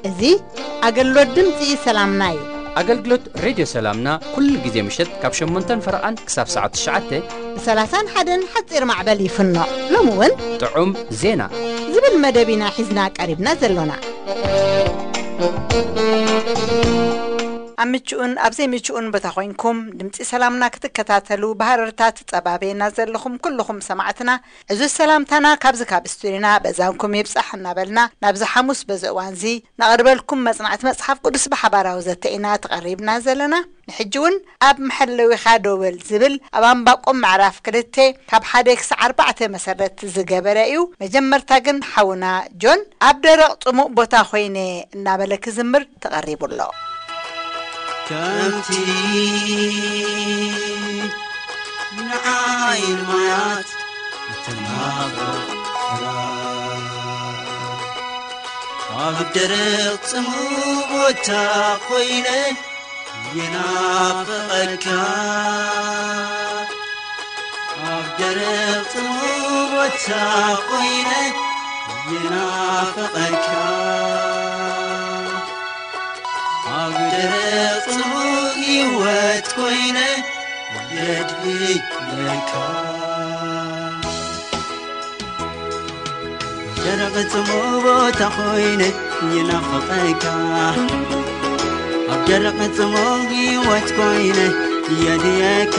እዚ ኣገልግሎት ድምፂ ሰላምና እዩ። ኣገልግሎት ሬድዮ ሰላምና ኩሉ ግዜ ምሸት ካብ ሸሞንተን ፈረቓን ክሳብ ሰዓት ትሽዓተ ብ ሰላሳን ሓደን ሓፂር ማዕበል ይፍኖ። ሎሚ እውን ጥዑም ዜና ዝብል መደብ ኢና ሒዝና ቀሪብና ዘሎና። ኣብ ምቹኡን ኣብ ዘይምቹኡን ቦታ ኮይንኩም ድምፂ ሰላምና ክትከታተሉ ብሃረርታ ትፀባበየና ዘለኹም ኩልኹም ሰማዕትና፣ ዕዙዝ ሰላምታና ካብዚ ካብ ስቱዲዮና በዛንኩም ይብጻሕ እናበልና፣ ናብዚ ሓሙስ በዚ እዋንዚ ነቕርበልኩም መጽናዕቲ መጽሓፍ ቅዱስ ብሓባራዊ ዘተ ኢና ተቐሪብና ዘለና። ንሕጂ እውን ኣብ መሐለዊኻ ደው በል ዝብል ኣብ ኣንባቆም ምዕራፍ ክልተ ካብ ሓደ ክሳዕ ኣርባዕተ መሰረት ዝገበረ እዩ። መጀመርታ ግን ሓውና ጆን ኣብ ደረቕ ጽሙእ ቦታ ኮይነ እናበለ ክዝምር ተቐሪቡ ኣሎ። ከምቲ ንዓይን ማያት እትናፍቕ ፍራ፣ ኣብ ደረቕ ጽሙእ ቦታ ኮይነ ይናፍቐካ። ኣብ ደረቕ ጽሙእ ቦታ ኮይነ ይናፍቐካ። ኣብ ደረቕ ጽሙእ ህይወት ኮይነ የድህየካ። ደረቕ ጽሙእ ቦታ ኮይነ ይናፍቐካ። ኣብ ደረቕ ጽሙእ ህይወት ኮይነ የድህየካ።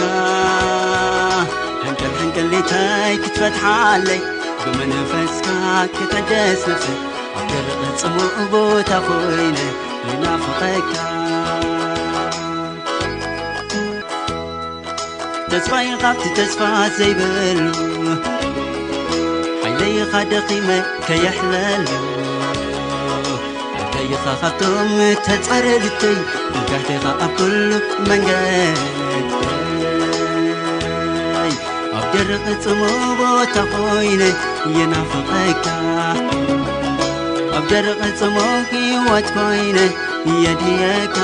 ሕንቅል ሕንቅሊተይ ክትፈትሓለይ ብመንፈስካ ክትሕደስ ነፍሰይ። ኣብ ደረቕ ጽሙእ ቦታ ኮይነ ይናፍቐካ። ተስፋይ ካብቲ ተስፋ ዘይብሉ፣ ሓይለይኻ ደኺመ ከየሕለሉ፣ ሓይለይኻ ካብቶም ተጻረርተይ፣ ብጋህቴኻ ኣብ ኩሉ መንገደይ። ኣብ ደረቕ ጽሙእ ቦታ ኮይነ ይናፍቐካ። ኣብ ደረቕ ጽሙእ ህይወት ኮይነ የድህየካ።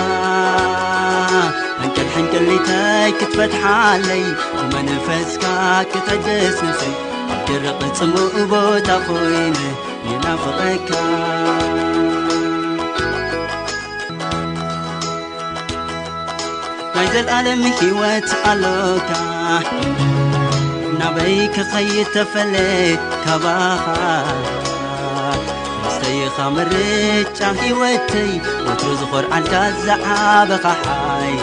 ሕንቅል ሕንቅሊተይ ክትፈትሓለይ፣ ብመንፈስካ ክትሕደስ ነፍሰይ። ኣብ ደረቕ ጽሙእ ቦታ ኮይነ ይናፍቐካ። ናይ ዘልኣለም ህይወት ኣሎካ፣ ናበይ ክኸይድ ተፈለ ካባኻ። መስተይኻ ምርጫ ህይወተይ፣ ወትሩ ዝኾርዓልካ ዝዓበኻ ሓይለይ።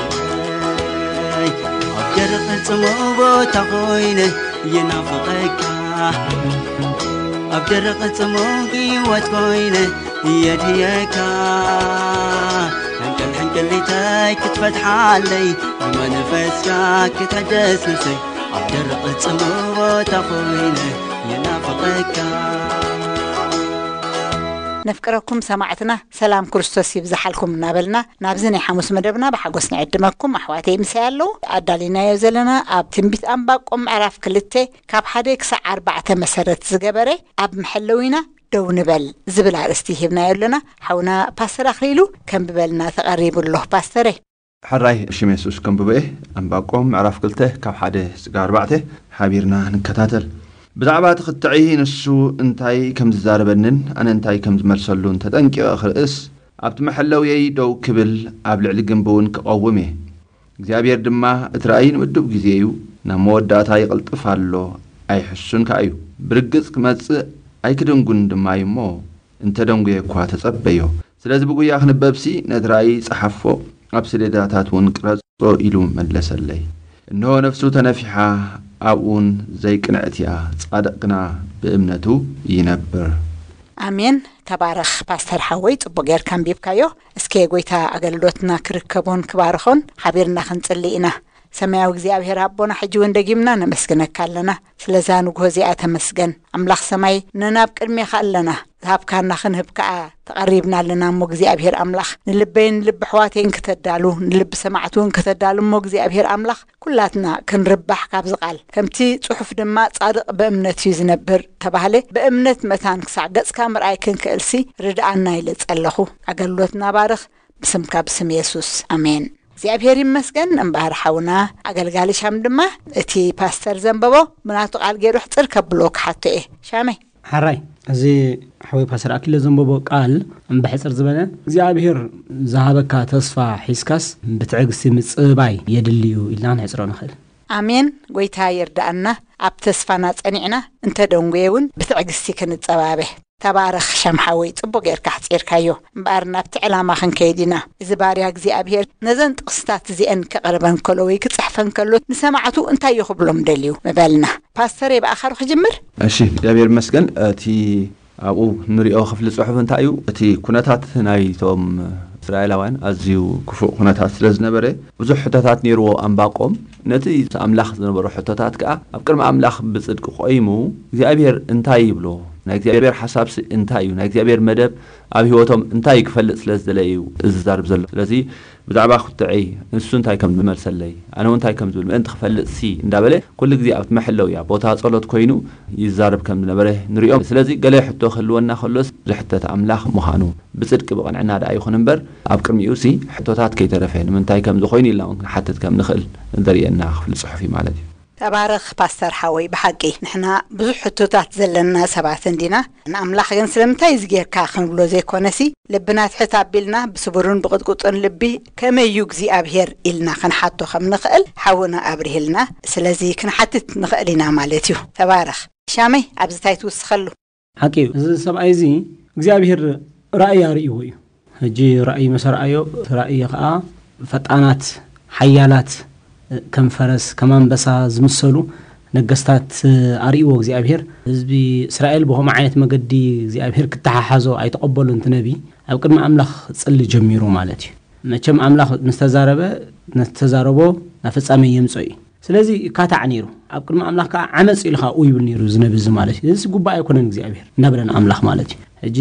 ኣብ ደረቕ ጽሙእ ቦታ ኮይነ ይናፍቐካ። ኣብ ደረቕ ጽሙእ ህይወት ኮይነ የድህየካ። ሕንቅል ሕንቅሊተይ ክትፈትሓለይ፣ ብመንፈስካ ክትሕደስ ነፍሰይ። ኣብ ደረቕ ጽሙእ ቦታ ኮይነ ይናፍቐካ። ነፍቅረኩም ሰማዕትና፣ ሰላም ክርስቶስ ይብዝሓልኩም እናበልና ናብዚ ናይ ሓሙስ መደብና ብሓጎስ ንዕድመኩም። ኣሕዋተይ ምሳይ ኣለዉ። ኣዳሊናዮ ዘለና ኣብ ትንቢት ኣንባቆም ምዕራፍ ክልተ ካብ ሓደ ክሳዕ ኣርባዕተ መሰረት ዝገበረ ኣብ መሐለዊና ደው ንበል ዝብል ኣርእስቲ ሂብናዮ ኣለና። ሓውና ፓስተር ኣኽሊሉ ከንብበልና ተቐሪቡ ኣሎ። ፓስተረ። ሕራይ ሽም የሱስ ከንብቦ እየ። ኣንባቆም ምዕራፍ ክልተ ካብ ሓደ ስጋ ኣርባዕተ ሓቢርና ንከታተል። ብዛዕባ እቲ ክትዒ ንሱ እንታይ ከም ዝዛረበንን ኣነ እንታይ ከም ዝመልሰሉን ተጠንቂቐ ክርእስ፣ ኣብቲ መሐለውየይ ደው ክብል ኣብ ልዕሊ ግንቢ እውን ክቐውም እየ። እግዚኣብሔር ድማ እቲ ራእይ ንምዱብ ግዜ እዩ፣ ናብ መወዳእታ ይቕልጥፍ ኣሎ፣ ኣይሕሱን ከኣ እዩ። ብርግጽ ክመጽእ ኣይክድንጉን ድማ እዩ እሞ፣ እንተ ደንጉየ እኳ ተጸበዮ። ስለዚ ብጉያ ክንበብሲ ነቲ ራእይ ጸሓፎ፣ ኣብ ሰሌዳታት እውን ቅረጾ ኢሉ መለሰለይ። እንሆ ነፍሱ ተነፊሓ፣ ኣብኡን ዘይቅንዕት እያ፣ ጻድቕ ግና ብእምነቱ ይነብር። ኣሜን። ተባረኽ ፓስተር ሓወይ፣ ጽቡቕ ጌርካ ኣንቢብካዮ። እስከ ጎይታ ኣገልግሎትና ክርከቦን ክባርኾን ሓቢርና ክንጽሊ ኢና። ሰማያዊ እግዚኣብሔር ኣቦና፣ ሕጂ እውን ደጊምና ነመስግነካ ኣለና። ስለዛ ንግሆ እዚኣ ተመስገን። ኣምላኽ ሰማይ፣ ነናብ ቅድሜኻ ኣለና። ዝሃብካና ክንህብ ከኣ ተቐሪብና ኣለና። እሞ እግዚኣብሔር ኣምላኽ ንልበይን ልቢ ኣሕዋተይን ክተዳሉ፣ ንልቢ ሰማዕቲ እውን ክተዳሉ፣ እሞ እግዚኣብሔር ኣምላኽ ኩላትና ክንርባሕ ካብዚ ቃል። ከምቲ ጽሑፍ ድማ፣ "ጻድቕ ብእምነት እዩ ዝነብር" ተባህለ። ብእምነት መታን ክሳዕ ገጽካ ምርኣይ ክንክእልሲ ርድኣና ኢለ ጸለኹ። ኣገልግሎትና ባርኽ፣ ብስምካ፣ ብስም የሱስ፣ ኣሜን። እግዚኣብሔር ይመስገን። እምበኣር ሓውና ኣገልጋሊ ሻም ድማ፣ እቲ ፓስተር ዘንበቦ ብናቱ ቃል ገይሩ ሕጽር ከብሎ ክሓቶ እየ። ሻመይ። ሓራይ፣ እዚ ሓወይ ፓስተር ኣኪለ ዘንበቦ ቃል ብሕጽር ዝበለ፣ እግዚኣብሔር ዝሃበካ ተስፋ ሒዝካስ ብትዕግስቲ ምጽባይ የድልዩ ኢልና ክንሕጽሮ ንኽእል። ኣሜን። ጎይታ ይርዳኣና። ኣብ ተስፋና ጸኒዕና እንተ ደንጎየ እውን ብትዕግስቲ ክንጸባበ። ተባረኽ ሻም ሓወይ፣ ጽቡቕ ጌርካ ኣሕጺርካዮ። እምበኣር ናብቲ ዕላማ ክንከይድ ኢና። እዚ ባርያ እግዚኣብሔር ነዘን ጥቕስታት እዚአን ከቕርበን ከሎ ወይ ክጽሕፈን ከሎ ንሰማዕቱ እንታይ እዩ ክብሎም ደልዩ ምበልና። ፓስተር፣ ብኣኻሩ ክጅምር? እሺ፣ እግዚኣብሔር ይመስገን። እቲ ኣብኡ ንሪኦ ክፍሊ ጽሑፍ እንታይ እዩ? እቲ ኩነታት ናይቶም እስራኤላውያን ኣዝዩ ክፉእ ኩነታት ስለ ዝነበረ፣ ብዙሕ ሕቶታት ነይርዎ ኣንባቆም። ነቲ ኣምላኽ ዝነበሮ ሕቶታት ከኣ ኣብ ቅድሚ ኣምላኽ ብጽድቂ ቆይሙ፣ እግዚኣብሔር እንታይ ይብሎ? ናይ እግዚኣብሔር ሓሳብሲ እንታይ እዩ? ናይ እግዚኣብሔር መደብ ኣብ ህይወቶም እንታይ ክፈልጥ ስለ ዝደለየ እዩ እዚ ዝዛርብ ዘሎ። ስለዚ ብዛዕባ ኩትዐይ ንሱ እንታይ ከም ዝመልሰለይ፣ ኣነ እውን እንታይ ከም ዝብል ምእንቲ ክፈልጥሲ እንዳበለ ኩሉ ግዜ ኣብቲ መሐለውያ ቦታ ጸሎት ኮይኑ ይዛረብ ከም ዝነበረ ንሪኦ። ስለዚ ገለ ሕቶ ክህልወና ከሎስ ዝሕተት ኣምላኽ ምዃኑ ብጽድቂ ብቕንዕና ደኣ ይኹን እምበር፣ ኣብ ቅድሚኡሲ ሕቶታት ከይተረፈ ንምንታይ ከም ዝኾይኑ ኢልና እውን ክንሓትት ከም ንኽእል ዘርእየና ክፍሊ ጽሑፍ እዩ ማለት እዩ። ተባረኽ ፓስተር ሓወይ። ብሓቂ ንሕና ብዙሕ ሕቶታት ዘለና ሰባት እንዲና። ንኣምላኽ ግን ስለምንታይ እዚ ጌርካ ክንብሎ ዘይኮነሲ፣ ልብና ትሕት ኣቢልና ብስቡርን ብቕጥቁጥን ልቢ ከመይ እዩ እግዚኣብሔር ኢልና ክንሓቶ ከም ንኽእል ሓውና ኣብሪህልና። ስለዚ ክንሓትት ንኽእል ኢና ማለት እዩ። ተባረኽ። ሻመይ፣ ኣብዚ እንታይ ትውስኸሉ? ሓቂ እዩ። እዚ ሰብኣይ እዚ እግዚኣብሔር ራእይ ኣርእይዎ እዩ። ሕጂ ራእይ መሰ ረኣዮ፣ እቲ ራእይ ኸዓ ፈጣናት፣ ሓያላት፣ ከም ፈረስ፣ ከም ኣንበሳ ዝምሰሉ ነገስታት ኣርእይዎ እግዚኣብሔር። ህዝቢ እስራኤል ብኸምኡ ዓይነት መገዲ እግዚኣብሔር ክተሓሓዞ ኣይተቐበሉን። እቲ ነቢ ኣብ ቅድሚ ኣምላኽ ክጽሊ ጀሚሩ ማለት እዩ። መቸም ኣምላኽ ምስ ተዛረበ፣ ነቲ ተዛረቦ ናብ ፍጻሜ የምጽኦ እዩ። ስለዚ ይካታዕ ነይሩ። ኣብ ቅድሚ ኣምላኽ ከኣ ዓመጽ ኢሉ ከኣ ኡ ይብል ነይሩ እዚ ነቢ እዚ ማለት እዩ። እዚ ጉባኤ ኣይኮነን እግዚኣብሔር እናበለ ንኣምላኽ ማለት እዩ። ሕጂ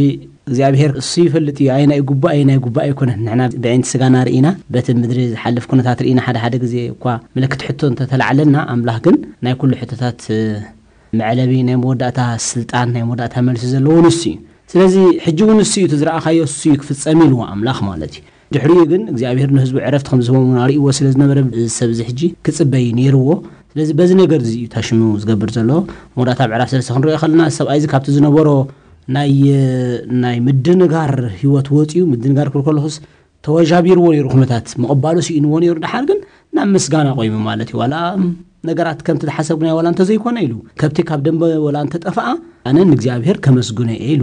እግዚኣብሔር እሱ ይፈልጥ እዩ፣ ኣየናይ ጉባኤ፣ ኣየናይ ጉባኤ ኣይኮነን። ንሕና ብዕይንቲ ስጋና ርኢና፣ በቲ ምድሪ ዝሓልፍ ኩነታት ርኢና፣ ሓደ ሓደ ግዜ እኳ ምልክት ሕቶ እንተተላዕለና፣ ኣምላኽ ግን ናይ ኩሉ ሕቶታት፣ እ፣ መዕለቢ፣ ናይ መወዳእታ ስልጣን፣ ናይ መወዳእታ መልሲ ዘለዎ ንሱ እዩ። ስለዚ ሕጂ እውን እሱ እዩ፣ እቲ ዝረኣኻዮ እሱ እዩ ክፍጸም ኢልዎ ኣምላኽ ማለት እዩ። ድሕሪኡ ግን እግዚኣብሔር ንህዝቡ ዕረፍቲ ከም ዝህቦም እውን ኣርእይዎ ስለ ዝነበረ፣ እዚ ሰብ እዚ ሕጂ ክጽበይ ነይርዎ። ስለዚ በዚ ነገር እዚ እዩ ታሽሙ ዝገብር ዘሎ። መወዳእታ ምዕራፍ ሰለስተ ክንሪኦ ከለና፣ እዚ ሰብኣይ እዚ ካብቲ ዝነበሮ ናይ፣ ናይ ምድንጋር ህይወት ወጺኡ፣ ምድንጋር ክብል ከለኹስ ተወጃቢርዎ ነይሩ፣ ኩነታት ምቕባሉ ስኢንዎ ነይሩ። ደሓር ግን ናብ ምስጋና ቆይሙ ማለት እዩ። ዋላ ነገራት ከምቲ ዝሓሰብኩናዮ ዋላ እንተዘይኮነ ኢሉ፣ ከብቲ ካብ ደንበ ዋላ እንተጠፍኣ፣ ኣነ ንእግዚኣብሔር ከመስግኖ እየ ኢሉ፣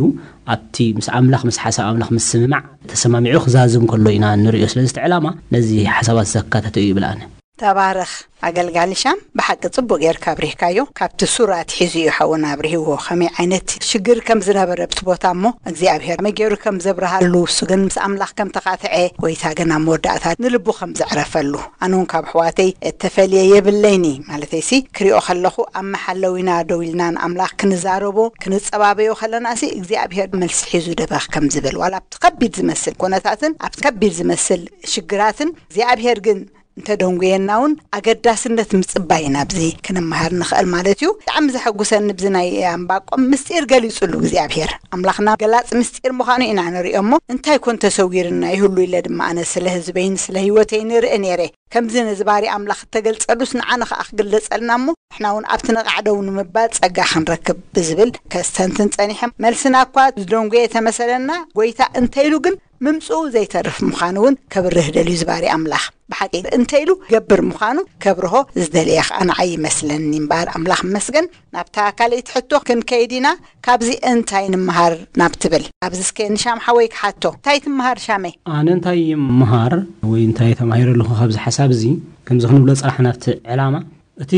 ኣብቲ ምስ ኣምላኽ፣ ምስ ሓሳብ ኣምላኽ ምስምማዕ ተሰማሚዑ ክዛዝም ከሎ ኢና እንርእዮ። ስለዚ እቲ ዕላማ ነዚ ሓሳባት ዘካተተ እዩ ይብል ኣነ። ተባረኽ ኣገልጋሊ ሻም፣ ብሓቂ ጽቡቕ ጌርካ ኣብሪህካዮ። ካብቲ ሱር ኣትሒዙ እዩ ሓውና ኣብሪህዎ፣ ከመይ ዓይነት ሽግር ከም ዝነበረ ኣብቲ ቦታ፣ እሞ እግዚኣብሔር ከመይ ገይሩ ከም ዘብርሃሉ፣ እሱ ግን ምስ ኣምላኽ ከም ተኻትዐ፣ ጎይታ ግን ኣብ መወዳእታ ንልቡ ከም ዘዕረፈሉ። ኣነ እውን ካብ ኣሕዋተይ እተፈልየ የብለይኒ፣ ማለተይሲ ክሪኦ ከለኹ ኣብ መሓለዊና ደው ኢልና ንኣምላኽ ክንዛረቦ ክንጸባበዮ ከለናሲ እግዚኣብሔር መልሲ ሒዙ ደበኽ ከም ዝብል፣ ዋላ ኣብቲ ከቢድ ዝመስል ኩነታትን ኣብቲ ከቢድ ዝመስል ሽግራትን እግዚኣብሔር ግን እንተደንጉየና እውን ኣገዳስነት ምጽባይ ኢና ኣብዚ ክንመሃር ንኽእል ማለት እዩ። ብጣዕሚ ዘሐጉሰኒ ብዚ ናይ ኣንባቆም ምስጢር ገሊጹሉ እግዚኣብሔር ኣምላኽና ገላጽ ምስጢር ምዃኑ ኢና ንሪኦ። እሞ እንታይ ኮን ተሰዊርና ይህሉ ኢለ ድማ ኣነ ስለ ህዝበይን ስለ ህይወተይ ንርኢ ነይረ። ከምዚ ነዚ ባሪ ኣምላኽ እተገልጸሉስ ንዓና ኸኣ ክግለጸልና እሞ ንሕና እውን ኣብቲ ነቓዕ ደው ንምባል ጸጋ ክንረክብ ብዝብል ከስተንትን ጸኒሐ። መልስና እኳ ዝደንጉየ ተመሰለና፣ ጎይታ እንተ ኢሉ ግን ምምጽኡ ዘይተርፍ ምዃኑ እውን ከብርህ ደልዩ ዝባሪ ኣምላኽ። ብሓቂ እንተ ኢሉ ገብር ምዃኑ ከብርሆ ዝደለየ ኸኣ ንዓይ ይመስለኒ እምበኣር፣ ኣምላኽ ይመስገን። ናብታ ካልኣይቲ ሕቶ ክንከይድ ኢና። ካብዚ እንታይ ንምሃር ናብ ትብል፣ ኣብዚ እስከ ንሻም ሓወይ ክሓቶ፣ እንታይ ትምሃር ሻመይ? ኣነ እንታይ ይምሃር ወይ እንታይ ተማሂረ ኣለኹ ካብዚ ሓሳብ እዚ፣ ከምዚ ክንብሎ ጸናሕና ኣብቲ ዕላማ፣ እቲ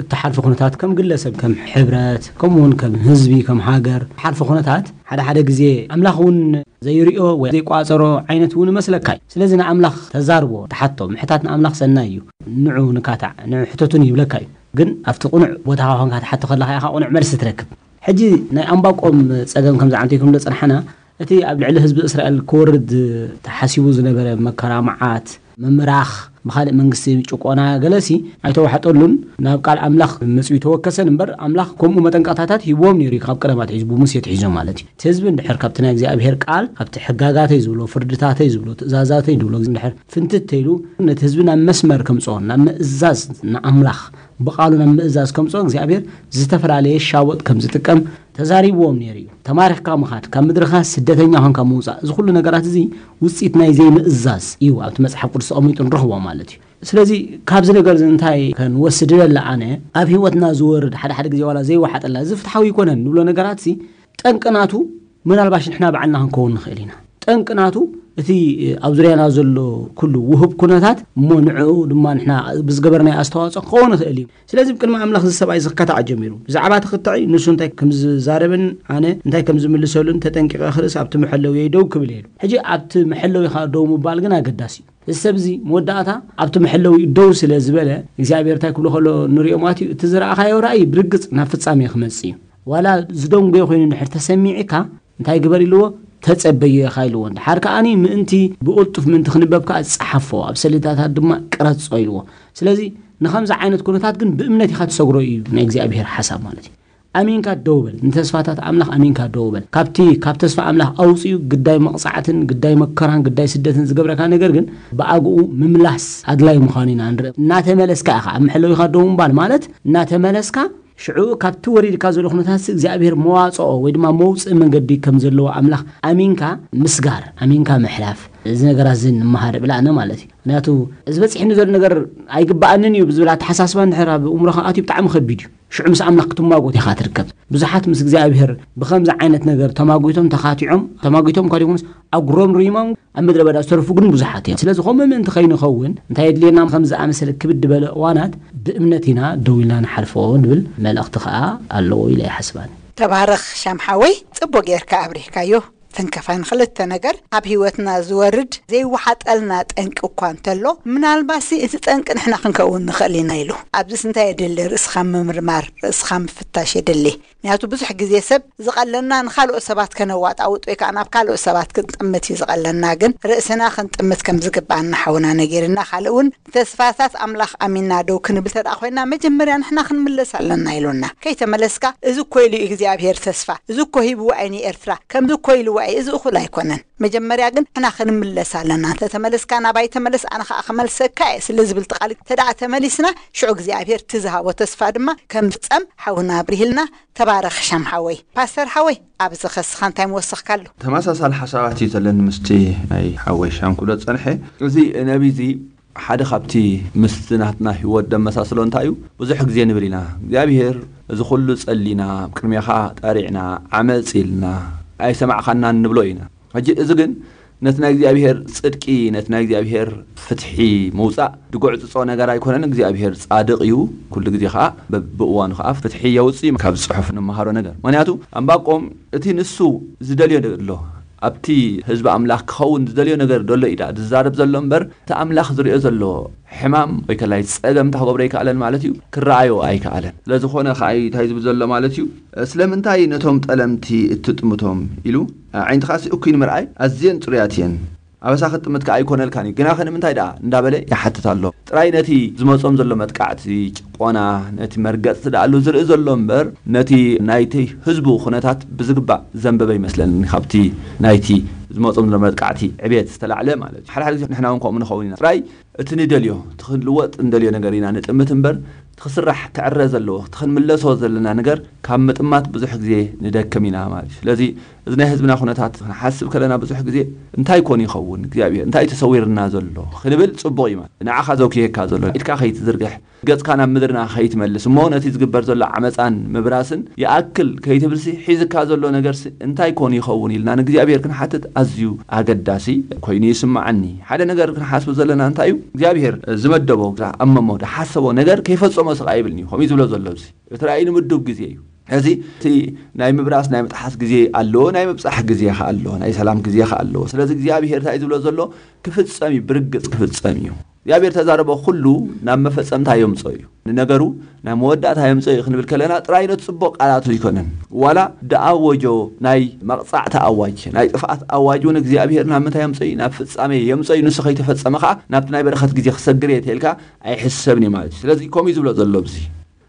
እትሓልፎ ኩነታት ከም ግለሰብ፣ ከም ሕብረት፣ ከምኡ እውን ከም ህዝቢ፣ ከም ሃገር እትሓልፎ ኩነታት ሓደ ሓደ ግዜ ኣምላኽ እውን ዘይርእዮ ወይ ዘይቋጸሮ ዓይነት እውን ይመስለካ እዩ። ስለዚ ንኣምላኽ ተዛርቦ፣ ተሓቶ። ምሕታት ንኣምላኽ ሰናይ እዩ። ንዑ ንካታዕ፣ ንዑ ሕተቱኒ ይብለካ እዩ። ግን ኣብቲ ቅኑዕ ቦታኻ ኮንካ ትሓቶ ከለኻ ኢኻ ቅኑዕ መልሲ ትረክብ። ሕጂ ናይ ኣንባቆም ጸገም ከም ዝዓንተይኩም ዝጸናሕና፣ እቲ ኣብ ልዕሊ ህዝቢ እስራኤል ክወርድ ተሓሲቡ ዝነበረ መከራ፣ መዓት፣ ምምራኽ፣ ብኻልእ መንግስቲ ጭቆና ገለሲ ኣይተዋሕጠሉን፣ ናብ ቃል ኣምላኽ መጺኡ ተወከሰን እምበር፣ ኣምላኽ ከምኡ መጠንቀቕታታት ሂብዎም ነይሩ እዩ፣ ካብ ቀደም ኣትሒዙ፣ ብሙሴ ኣትሒዙ ማለት እዩ። እቲ ህዝቢ እንድሕር ካብቲ ናይ እግዚኣብሔር ቃል፣ ካብቲ ሕጋጋተይ ዝብሎ፣ ፍርድታተይ ዝብሎ፣ ትእዛዛተይ ዝብሎ እንድሕር ፍንትት ተይሉ፣ ነቲ ህዝቢ ናብ መስመር ከምጽኦ፣ ናብ ምእዛዝ ንኣምላኽ ብቓሉ ናብ ምእዛዝ ከምጽኦ እግዚኣብሔር ዝተፈላለየ ሻወጥ ከም ዝጥቀም ተዛሪብዎም ነይሩ እዩ። ተማሪኽካ ምኻድ፣ ካብ ምድርኻ ስደተኛ ኾንካ ምውጻእ፣ እዚ ኩሉ ነገራት እዚ ውጽኢት ናይ ዘይምእዛዝ እዩ። ኣብቲ መጽሓፍ ቅዱስ ተቐሚጡ ንረኽቦ ማለት እዩ። ስለዚ ካብዚ ነገር እዚ እንታይ ከንወስድ ደለ ኣነ፣ ኣብ ህይወትና ዝወርድ ሓደ ሓደ ግዜ ዋላ ዘይወሓጠላ፣ እዚ ፍትሓዊ ኣይኮነን ንብሎ ነገራት እዚ ጠንቂ ናቱ ምናልባሽ ንሕና ባዕልና ክንከውን ንኽእል ኢና። ጠንቂ ናቱ እቲ ኣብ ዙርያና ዘሎ ኩሉ ውሁብ ኩነታት እሞ ንዕኡ ድማ ንሕና ብዝገበርናዮ ኣስተዋጽኦ ክኸውን ይኽእል እዩ። ስለዚ ብቅድሚ ኣምላኽ እዚ ሰብኣይ እዚ ክከታዕ ጀሚሩ። ብዛዕባ እቲ ክትዕ ንሱ እንታይ ከም ዝዛረብን ኣነ እንታይ ከም ዝምልሰሉን ተጠንቂቐ ክርእስ ኣብቲ መሐለውየይ ደው ክብል እየ ኢሉ። ሕጂ ኣብቲ መሐለዊኻ ደው ምባል ግን ኣገዳሲ እዩ። እዚ ሰብ እዚ መወዳእታ ኣብቲ መሐለዊኡ ደው ስለ ዝበለ እግዚኣብሔር እንታይ ክብሎ ከሎ ንሪኦ ማለት እዩ። እቲ ዝረኣኻዮ ራእይ ብርግጽ ናብ ፍጻሜ ክመጽእ እዩ። ዋላ ዝደንጎየ ኮይኑ እንድሕር ተሰሚዕካ እንታይ ግበር ኢልዎ? ተጸበዮ ኢኻ ኢልዎ። እንድሓር ከኣኒ ምእንቲ ብቕልጡፍ ምእንቲ ክንበብ ከኣ ጸሓፎ፣ ኣብ ሰሌዳታት ድማ ቅረጾ ኢልዎ። ስለዚ ንኸምዚ ዓይነት ኩነታት ግን ብእምነት ኢኻ ትሰግሮ እዩ ናይ እግዚኣብሔር ሓሳብ ማለት እዩ። ኣሚንካ ደው በል፣ ንተስፋታት ኣምላኽ ኣሚንካ ደው በል። ካብቲ ካብ ተስፋ ኣምላኽ ኣውጽኡ ግዳይ መቕጻዕትን ግዳይ መከራን ግዳይ ስደትን ዝገብረካ ነገር ግን ብኣግኡ ምምላስ ኣድላይ ምዃኑ ኢና ንርኢ። እናተመለስካ ኢኻ ኣብ መሐለዊኻ ደው ምባል ማለት እናተመለስካ ሽዑ ካብቲ ወሪድካ ዘሎ ኩነታት እግዚኣብሔር መዋጽኦ ወይ ድማ መውጽኢ መንገዲ ከም ዘለዎ ኣምላኽ ኣሚንካ ምስጋር፣ ኣሚንካ ምሕላፍ፣ እዚ ነገራት እዚ ንምሃር እብል ኣነ ማለት እዩ። ምክንያቱ እዚ በጺሕኒ ዘሎ ነገር ኣይግብኣንን እዩ ብዝብል ኣተሓሳስባ እንድሕር ኣብ እምሮኻ ኣትዩ ብጣዕሚ ከቢድ እዩ። ሽዑ ምስ ኣምላኽ ክትማጎት ኢኻ ትርከብ። ብዙሓት ምስ እግዚኣብሔር ብኸምዚ ዓይነት ነገር ተማጒቶም ተኻቲዖም፣ ተማጒቶም እኳ ደይኮኑስ ኣጉሮምሪሞም ኣብ ምድረ በዳ ዝተረፉ ግን ብዙሓት እዮም። ስለዚ ከምኡ ምእንቲ ከይንኸውን እንታይ የድልየና? ከም ዝኣመሰለ ክብድ በለ እዋናት ብእምነት ኢና ደው ኢልና ንሓልፎ ንብል መልእኽቲ ከኣ ኣለዎ ኢለ ይሓስብ ኣነ። ተባረኽ ሻምሓወይ፣ ጽቡቅ ጌርካ ኣብሪህካዮ። ተንከፋ ንክልተ ነገር ኣብ ህይወትና ዝወርድ ዘይወሓጠልና ጠንቂ እኳ እንተሎ ምናልባሲ እቲ ጠንቂ ንሕና ክንከውን ንኽእል ኢና ኢሉ። ኣብዚስ እንታይ የድሊ? ርእስኻ ምምርማር፣ ርእስኻ ምፍታሽ የድሊ። ምክንያቱ ብዙሕ ግዜ ሰብ ዝቐለና ንኻልኦት ሰባት ከነዋጣውጥ ወይ ከዓ ናብ ካልኦት ሰባት ክንጥምት እዩ ዝቐለና። ግን ርእስና ክንጥምት ከም ዝግባኣና ሓውና ነጊርና፣ ካልእ እውን ተስፋታት ኣምላኽ ኣሚንና ደው ክንብል ተደኣ ኮይና መጀመርያ ንሕና ክንምለስ ኣለና ኢሉና። ከይተመለስካ እዚ እኮ ኢሉ እዩ እግዚኣብሔር ተስፋ፣ እዚ እኮ ሂብዋ እዩ ንኤርትራ፣ ከምዚ እኮ ኢልዋ እዩ፣ እዚ እኹል ኣይኮነን። መጀመርያ ግን ንሕና ክንምለስ ኣለና። እንተተመለስካ ናባይ ተመለስ ኣነ ከዓ ክመልሰካ እየ ስለ ዝብል ትቃሊ ተደኣ ተመሊስና ሽዑ እግዚኣብሔር እቲ ዝሃቦ ተስፋ ድማ ከም ዝፍጸም ሓውና ኣብሪህልና። ተባረኽ ሻም ሓወይ። ፓስተር ሓወይ ኣብዚ ኸስኻ እንታይ ምወሰኽካሉ? ተመሳሳሊ ሓሳባት እዩ ዘለኒ ምስቲ ናይ ሓወይ ሻም ክብሎ ዝጸንሐ። እዚ ነቢ እዚ ሓደ ካብቲ ምስቲ ናትና ህይወት ደመሳስሎ እንታይ እዩ? ብዙሕ ግዜ ንብል ኢና እግዚኣብሔር እዚ ኩሉ ጸሊና ቅድሜኻ ጠሪዕና ዓመፅ ኢልና ኣይሰማዕኻናን ንብሎ ኢና። ሕጂ እዚ ግን ነቲ ናይ እግዚኣብሔር ጽድቂ ነቲ ናይ እግዚኣብሔር ፍትሒ ምውጻእ ድጉዕጽጾ ነገር ኣይኮነን። እግዚኣብሔር ጻድቕ እዩ። ኩሉ ግዜ ከኣ በብእዋኑ ከኣ ፍትሒ የውጽእ እዩ። ካብ ጽሑፍ ንመሃሮ ነገር ምክንያቱ ኣንባቆም እቲ ንሱ ዝደልዮ ኣሎ ኣብቲ ህዝቢ ኣምላኽ ክኸውን ዝደልዮ ነገር ደሎ ኢዳ ዝዛረብ ዘሎ እምበር እቲ ኣምላኽ ዝሪኦ ዘሎ ሕማም ወይ ከላይ ጸገም እንተ ክገብሮ ኣይከኣለን ማለት እዩ። ክረኣዮ ኣይከኣለን። ስለዝኾነ ከኣ እንታይ ዝብል ዘሎ ማለት እዩ? ስለምንታይ ነቶም ጠለምቲ እትጥምቶም ኢሉ ዓይንትኻሲ እኩይ ንምርኣይ ኣዝየን ጽሩያት እየን። ኣበሳ ክትጥምት ከኣ ኣይኮነልካን እዩ። ግናኸ ንምንታይ ደኣ እንዳበለ ይሓትት ኣሎ። ጥራይ ነቲ ዝመጾም ዘሎ መጥቃዕቲ፣ ጭቆና፣ ነቲ መርገጽቲ ደኣሉ ዝርኢ ዘሎ እምበር ነቲ ናይቲ ህዝቡ ኩነታት ብዝግባእ ዘንበበ ይመስለኒ። ካብቲ ናይቲ ዝመጾም ዘሎ መጥቃዕቲ ዕብየት ዝተላዕለ ማለት እዩ። ሓደ ሓደ ግዜ ንሕና እውን ከምኡ ንኸውን ኢና። ጥራይ እቲ ንደልዮ እቲ ክንልወጥ እንደልዮ ነገር ኢና ንጥምት እምበር እቲ ክስራሕ ክዕረ ዘለዎ እቲ ክንምለሶ ዘለና ነገር ካብ ምጥማት ብዙሕ ግዜ ንደክም ኢና ማለት እዩ። ስለዚ እዚ ናይ ህዝብና ኩነታት ክንሓስብ ከለና ብዙሕ ግዜ እንታይ ኮን ይኸውን እግዚኣብሔር እንታይ ተሰዊርና ዘሎ ክንብል ጽቡቕ እዩ ማለት ንዓኻ ዘውክየካ ዘሎ ኢድካ ከይትዝርግሕ ገጽካ ናብ ምድርና ከይትመልስ እሞ ነቲ ዝግበር ዘሎ ዓመፃን ምብራስን ይኣክል ከይትብልሲ ሒዝካ ዘሎ ነገርሲ እንታይ ኮን ይኸውን ኢልና ንእግዚኣብሔር ክንሓትት ኣዝዩ ኣገዳሲ ኮይኑ ይስምዓኒ። ሓደ ነገር ክንሓስብ ዘለና እንታይ እዩ እግዚኣብሔር ዝመደቦ ዝኣመሞ ዝሓሰቦ ነገር ከይፈፀሞ ስቕ ኣይብልን እዩ ከምኡ ዝብሎ ዘሎ እዚ እቲ ራእይ ንምዱብ ግዜ እዩ። እዚ እቲ ናይ ምብራስ ናይ ምጥሓስ ግዜ ኣለዎ ናይ ምብፃሕ ግዜ ከ ኣለዎ ናይ ሰላም ግዜ ከ ኣለዎ። ስለዚ እግዚኣብሔር እንታይ ዝብሎ ዘሎ ክፍፀም እዩ ብርግፅ ክፍፀም እዩ። እግዚኣብሔር ተዛረቦ ኩሉ ናብ መፈጸምታ የምጾ እዩ። ንነገሩ ናብ መወዳእታ የምጾ እዩ ክንብል ከለና ጥራይ ነቲ ጽቡቕ ቃላቱ ኣይኮነን። ዋላ ደኣወጆ ናይ መቕጻዕቲ ኣዋጅ፣ ናይ ጥፍኣት ኣዋጅ እውን እግዚኣብሔር ናብ ምንታይ የምጾ እዩ? ናብ ፍጻሜ የምጾ እዩ። ንሱ ከይተፈጸመ ከኣ ናብቲ ናይ በረኸት ግዜ ክሰግር እየ ተልካ ኣይሕሰብን እዩ ማለት እዩ። ስለዚ ከምኡ እዩ ዝብሎ ዘሎ ኣብዚ።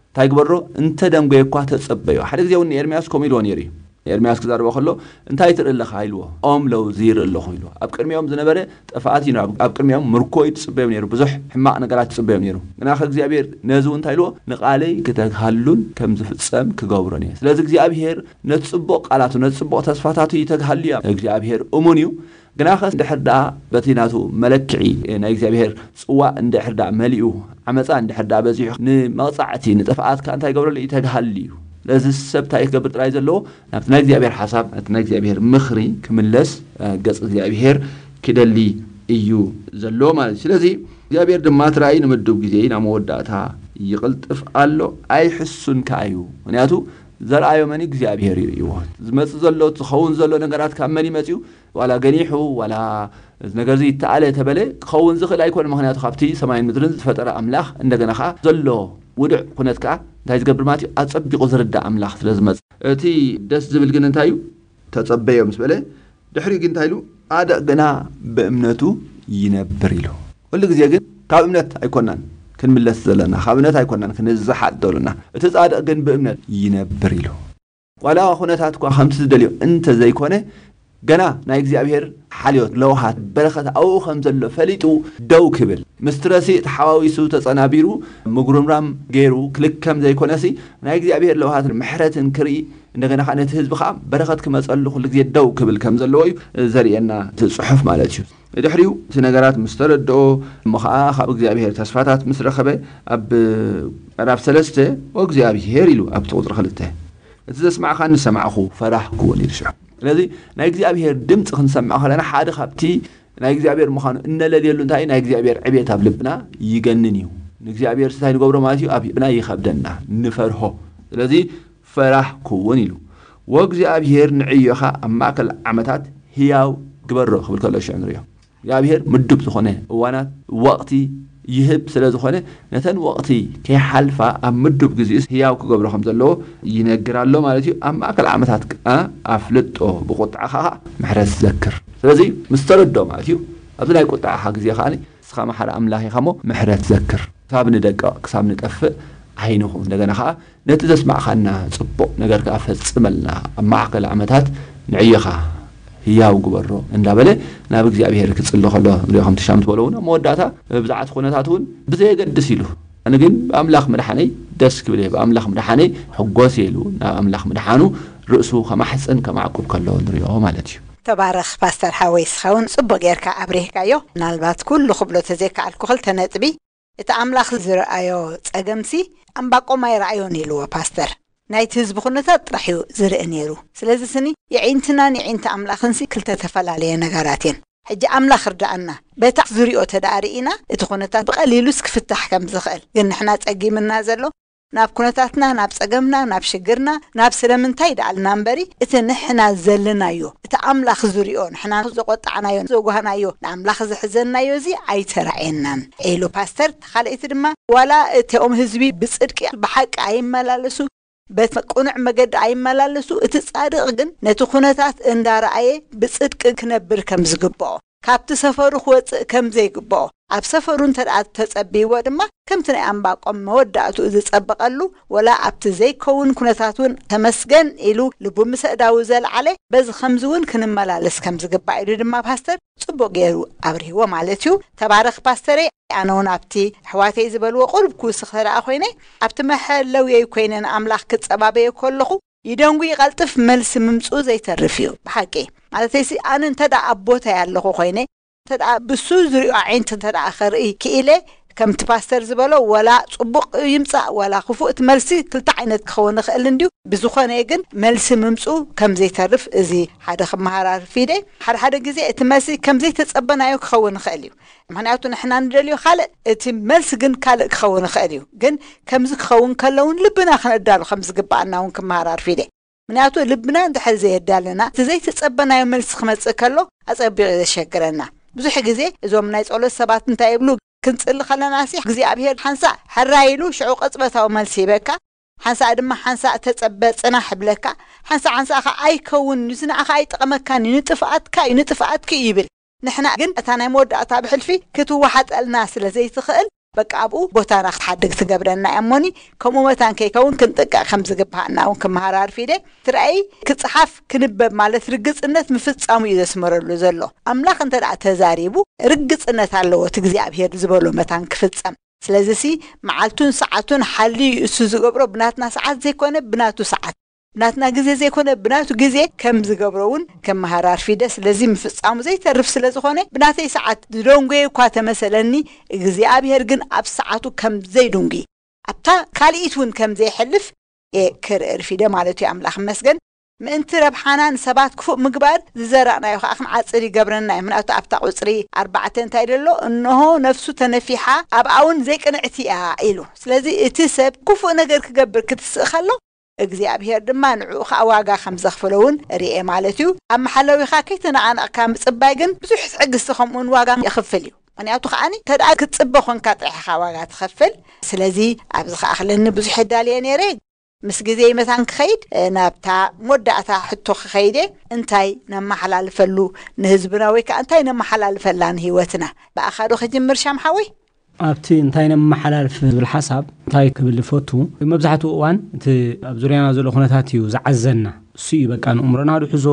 እንታይ ግበሮ? እንተ ደንጎየ እኳ ተጸበዮ። ሓደ ግዜ እውን ንኤርምያስ ከምኡ ኢልዎ ነይሩ እዩ። ንኤርምያስ ክዛርቦ ከሎ እንታይ ትርኢ ኣለኻ ኢልዎ። ኦም ለውዚ ይርኢ ኣለኹ ኢልዎ። ኣብ ቅድሚኦም ዝነበረ ጥፍኣት እዩ። ኣብ ቅድሚኦም ምርኮ እዩ ዝጽበዮም ነይሩ። ብዙሕ ሕማቕ ነገራት ይጽበዮም ነይሩ። ግናኸ እግዚኣብሔር ነዚ እውን እንታይ ኢልዎ? ንቓለይ ክተግሃሉን ከም ዝፍጸም ክገብሮን እየ። ስለዚ እግዚኣብሔር ነቲ ጽቡቕ ቃላቱ፣ ነቲ ጽቡቕ ተስፋታቱ ይተግሃሉ እዮም። እግዚኣብሔር እሙን እዩ። ግናኸ እንድሕር ደኣ በቲ ናቱ መለክዒ ናይ እግዚኣብሔር ጽዋእ እንድሕር ደኣ መሊኡ፣ ዓመጻ እንድሕር ደኣ በዚሑ፣ ንመቕጻዕቲ፣ ንጥፍኣት ከኣ እንታይ ይገብረሉ? ይተግሃሉ እዩ። ስለዚ ሰብ እንታይ ክገብር ጥራይ ዘለዎ? ናብቲ ናይ እግዚኣብሔር ሓሳብ፣ ናብቲ ናይ እግዚኣብሔር ምኽሪ ክምለስ፣ እ፣ ገጽ እግዚኣብሔር ክደሊ እዩ ዘለዎ ማለት እዩ። ስለዚ እግዚኣብሔር ድማ እቲ ራእይ ንምድብ ግዜ ናብ መወዳእታ ይቕልጥፍ ኣሎ፣ ኣይሕሱን ከኣ እዩ። ምኽንያቱ ዘርኣዮ መን? እግዚኣብሔር እዩ። ዝመጽእ ዘሎ፣ ዝኸውን ዘሎ ነገራት ካብ መን ይመጽኡ? ዋላ ገኒሑ፣ ዋላ እዚ ነገር እዚ ይተኣለ ተበለ፣ ክኸውን ዝኽእል ኣይኮነ። ምኽንያቱ ካብቲ ሰማይን ምድርን ዝፈጠረ ኣምላኽ፣ እንደገና ከኣ ዘሎ ውዱዕ ኩነት ከኣ እንታይ ዝገብር ማለት እዩ? ኣጸቢቑ ዝርዳእ ኣምላኽ ስለ ዝመጽእ። እቲ ደስ ዝብል ግን እንታይ እዩ? ተጸበዮ ምስ በለ፣ ድሕሪኡ ግን እንታይ ኢሉ? ጻድቕ ግና ብእምነቱ ይነብር ኢሉ። ኩሉ ግዜ ግን ካብ እምነት ኣይኮናን ክንምለስ ዘለና፣ ካብ እምነት ኣይኮናን ክንዝሓል ዘለና። እቲ ጻድቕ ግን ብእምነት ይነብር ኢሉ። ዋላ ኩነታት እኳ ከምቲ ዝደልዮ እንተ ዘይኮነ፣ ገና ናይ እግዚኣብሔር ሓልዮት፣ ለውሃት፣ በረኸት ኣብኡ ከም ዘሎ ፈሊጡ ደው ክብል፣ ምስትረሲ ተሓዋዊሱ ተጸናቢሩ ምጉርምራም ገይሩ ክልከም ዘይኮነሲ፣ ናይ እግዚኣብሔር ለውሃትን ምሕረትን ክርኢ፣ እንደገና ከኣ ነቲ ህዝቢ ከኣ በረኸት ክመጸሉ ኩሉ ግዜ ደው ክብል ከም ዘለዎ እዩ ዘርእየና እቲ ጽሑፍ ማለት እዩ። ድሕሪኡ እቲ ነገራት ምስ ተረድኦ እሞ ከኣ ካብ እግዚኣብሔር ተስፋታት ምስ ረኸበ ኣብ ምዕራፍ ሰለስተ "ወእግዚኣብሔር" ኢሉ ኣብቲ ቁጽሪ ክልተ "እቲ ዘስማዕካኒ ሰማዕኹ ፈራህኩ" እውን ኢሉ ሽዑ። ስለዚ ናይ እግዚኣብሔር ድምፂ ክንሰምዕ ከለና ሓደ ካብቲ ናይ እግዚኣብሔር ምዃኑ እነለልየሉ እንታይ ናይ እግዚኣብሔር ዕቤት ኣብ ልብና ይገንን እዩ። ንእግዚኣብሔር እንታይ ንገብሮ ማለት እዩ ኣብ ልብና ይኸብደና ንፈርሆ። ስለዚ ፈራህኩ እውን ኢሉ "ወእግዚኣብሔር ንዕዮኻ ኣብ ማእከል ዓመታት ህያው ግበሮ" ክብል ከሎ ሽዑ ንሪኦ። እግዚኣብሔር ምዱብ ዝኾነ እዋናት ወቕቲ ይህብ ስለ ዝኾነ ነተን ወቕቲ ከይሓልፋ ኣብ ምዱብ ግዜኡስ ህያው ክገብሮ ከም ዘለዎ ይነግር ኣሎ ማለት እዩ። ኣብ ማእከል ዓመታት ከኣ ኣፍልጦ ብቁጥዓ ከኣ ምሕረት ዘክር። ስለዚ ምስ ተረድኦ ማለት እዩ ኣብዚ ናይ ቁጥዓኻ ግዜ ከኣ ንስኻ መሓሪ ኣምላኽ ኢኻ እሞ ምሕረት ዘክር። ክሳብ ንደቅቕ ክሳብ ንጠፍእ ኣይንኹን። እንደገና ከኣ ነቲ ዘስማዕኻና ጽቡቕ ነገር ከኣ ፈጽመልና ኣብ ማእከል ዓመታት ንዕዮኻ ህያው ግበሮ እንዳበለ ናብ እግዚኣብሔር ክጽሊ ከሎ ንሪኦ። ከምቲ ሻም ዝበሎ እውን ኣብ መወዳእታ ብዛዕቲ ኩነታት እውን ብዘየገድስ ኢሉ ኣነ ግን ብኣምላኽ ምድሓነይ ደስ ክብል እየ ብኣምላኽ ምድሓነይ ሕጎስ እየ ኢሉ ናብ ኣምላኽ ምድሓኑ ርእሱ ከማሕፅን ከማዕቁብ ከሎ ንሪኦ ማለት እዩ። ተባረኽ ፓስተር ሓወይ ስኻ እውን ፅቡቅ ጌርካ ኣብሪህካዮ። ምናልባት ኩሉ ክብሎ ተዘይከኣልኩ ክልተ ነጥቢ። እቲ ኣምላኽ ዝረኣዮ ጸገምሲ ኣምባቆም ኣይረኣዮን ኢልዎ ፓስተር። ናይቲ ህዝቢ ኩነታት ጥራሕ እዩ ዝርኢ ነይሩ። ስለዚ ስኒ የዒንትናን የዒንቲ ኣምላኽንሲ ክልተ ተፈላለየ ነገራት እየን። ሕጂ ኣምላኽ ርዳኣና። በታ ዝሪኦ ተደኣ ርኢና እቲ ኩነታት ብቐሊሉስ ክፍታሕ ከም ዝኽእል ግን ንሕና ጸጊምና ዘሎ ናብ ኩነታትና ናብ ጸገምና ናብ ሽግርና ናብ ስለምንታይ ደኣልና እምበሪ እቲ ንሕና ዘለናዮ እቲ ኣምላኽ ዝሪኦ ንሕና ዘቆጣዕናዮ ዘጓህናዮ ንኣምላኽ ዘሕዘንናዮ እዚ ኣይተራእየናን ኢሉ ፓስተር። ካልኣይቲ ድማ ዋላ እቲኦም ህዝቢ ብጽድቂ ብሓቂ ኣይመላለሱ በቲ ቅኑዕ መገዲ ኣይመላለሱ እቲ ጻድቕ ግን ነቲ ኩነታት እንዳረኣየ ብጽድቂ ክነብር ከም ዝግብኦ ካብቲ ሰፈሩ ክወጽእ ከም ዘይግብኦ ኣብ ሰፈሩ እንተ ደኣ ተጸብይዎ ድማ ከምቲ ናይ ኣንባቆም መወዳእትኡ ዝጸበቐሉ ወላ ኣብቲ ዘይከውን ኩነታት እውን ተመስገን ኢሉ ልቡ ምስ ኣእዳዉ ዘልዓለ በዚ ከምዚ እውን ክንመላለስ ከም ዝግባእ ኢሉ ድማ ፓስተር ጽቡቕ ገይሩ ኣብርህዎ ማለት እዩ። ተባረኽ ፓስተረይ። ኣነ እውን ኣብቲ ኣሕዋተይ ዝበልዎ ቁሩብ ክውስኽ ተደኣ ኮይነ ኣብቲ መሐለውየይ ኮይነ ንኣምላኽ ክጸባበዮ ከለኹ ይደንጉ ይቐልጥፍ መልሲ ምምፅኡ ዘይተርፍ እዩ ብሓቂ። ማለተይሲ ኣነ እንተ ደኣ ኣብ ቦታይ ኣለኹ ኮይነ እንተ ደኣ ብሱ ዝሪኦ ዓይንቲ እንተ ደኣ ከርኢ ክኢለ ከምቲ ፓስተር ዝበሎ ወላ ፅቡቕ ይምፃእ ወላ ክፉእ እቲ መልሲ ክልተ ዓይነት ክኸውን ይኽእል እንድዩ። ብዝኾነ ግን መልሲ ምምፅኡ ከም ዘይተርፍ እዚ ሓደ ክመሃራርፍ ኢደ። ሓደ ሓደ ግዜ እቲ መልሲ ከም ዘይተፀበናዮ ክኸውን ይኽእል እዩ። ምኽንያቱ ንሕና ንደልዮ ካልእ እቲ መልሲ ግን ካልእ ክኸውን ይኽእል እዩ። ግን ከምዚ ክኸውን ከሎ እውን ልብና ክነዳሉ ከም ዝግባኣና እውን ክመሃራርፍ ኢደ። ምኽንያቱ ልብና እንድሕር ዘየዳለና እቲ ዘይተጸበናዮ መልሲ ክመጽእ ከሎ ኣጸቢቑ እዩ ዘሸግረና። ብዙሕ ግዜ እዞም ናይ ጸሎት ሰባት እንታይ ይብሉ? ክንጽሊ ከለናሲ እግዚኣብሔር ሓንሳእ ሕራይ ኢሉ ሽዑ ቅጽበታዊ መልሲ ይበካ። ሓንሳእ ድማ ሓንሳእ ተጸበ ጽናሕ ይብለካ። ሓንሳእ ሓንሳእ ከኣ ኣይከውን እዩ፣ እዚ ንዓኻ ኣይጠቕመካን እዩ፣ ንጥፍኣትካ እዩ፣ ንጥፍኣትኪ እዩ ይብል። ንሕና ግን እታ ናይ መወዳእታ ብሕልፊ ክትወሓጠልና ስለ ዘይትኽእል በቃ ኣብኡ ቦታና ክትሓድግ ትገብረና እያ እሞኒ። ከምኡ መታን ከይከውን ክንጥንቀቕ ከም ዝግብኣና እውን ክመሃር ኣርፊደ። ትረኣይ ክጽሓፍ ክንበብ ማለት ርግጽነት ምፍጻሙ እዩ ዘስመረሉ ዘሎ። ኣምላኽ እንተ ደኣ ተዛሪቡ ርግጽነት ኣለዎ እቲ እግዚኣብሔር ዝበሎ መታን ክፍጸም። ስለዚሲ መዓልቱን ሰዓቱን ሓልዩ እሱ ዝገብሮ ብናትና ሰዓት ዘይኮነ ብናቱ ሰዓት፣ ብናትና ግዜ ዘይኮነ ብናቱ ግዜ ከም ዝገብሮ እውን ከመሃር ኣርፊደ። ስለዚ ምፍጻሙ ዘይተርፍ ስለ ዝኾነ ብናተይ ሰዓት ዝደንጎየ እኳ ተመሰለኒ፣ እግዚኣብሔር ግን ኣብ ሰዓቱ ከም ዘይድንጉይ ኣብታ ካልኢት እውን ከም ዘይሕልፍ እየ ክርኢ ርፊደ ማለት እዩ። ኣምላኽ ይመስገን። ምእንቲ ረብሓና ንሰባት ክፉእ ምግባር ዝዘራእናዮ ከዓ ክንዓፅድ ይገብረና እዩ። ምክንያቱ ኣብታ ቁፅሪ ኣርባዕተ እንታይ ደሎ? እንሆ ነፍሱ ተነፊሓ ኣብኣ እውን ዘይቅንዕቲ እያ ኢሉ። ስለዚ እቲ ሰብ ክፉእ ነገር ክገብር ክትስእ ከሎ እግዚኣብሔር ድማ ንዕኡ ከዓ ዋጋ ከም ዘኽፍሎ እውን ርኤ ማለት እዩ። ኣብ መሓለዊኻ ከይተነቓነቕካ ምፅባይ ግን ብዙሕ ትዕግስቲ ከምኡውን ዋጋ የኽፍል እዩ። ምክንያቱ ከዓኒ ተደኣ ክትፅበ ኮንካ ጥራሕ ኢኻ ዋጋ ትኸፍል። ስለዚ ኣብዚ ከዓ ክለኒ ብዙሕ የዳልየ ነይረ። ምስ ግዜ መታን ክኸይድ ናብታ መወዳእታ ሕቶ ክኸይደ እንታይ ነመሓላልፈሉ ንህዝብና ወይ ከዓ እንታይ ነመሓላልፈላ ንህይወትና ብኣኻ ዶ ክጅምር ሻም ሓወይ? ኣብቲ እንታይ ነመሓላልፍ ዝብል ሓሳብ እንታይ ክብል ይፈቱ፣ መብዛሕትኡ እዋን እቲ ኣብ ዙርያና ዘሎ ኩነታት እዩ ዝዓዘና። እሱ እዩ በቃ ንእምሮና ድሕዞ፣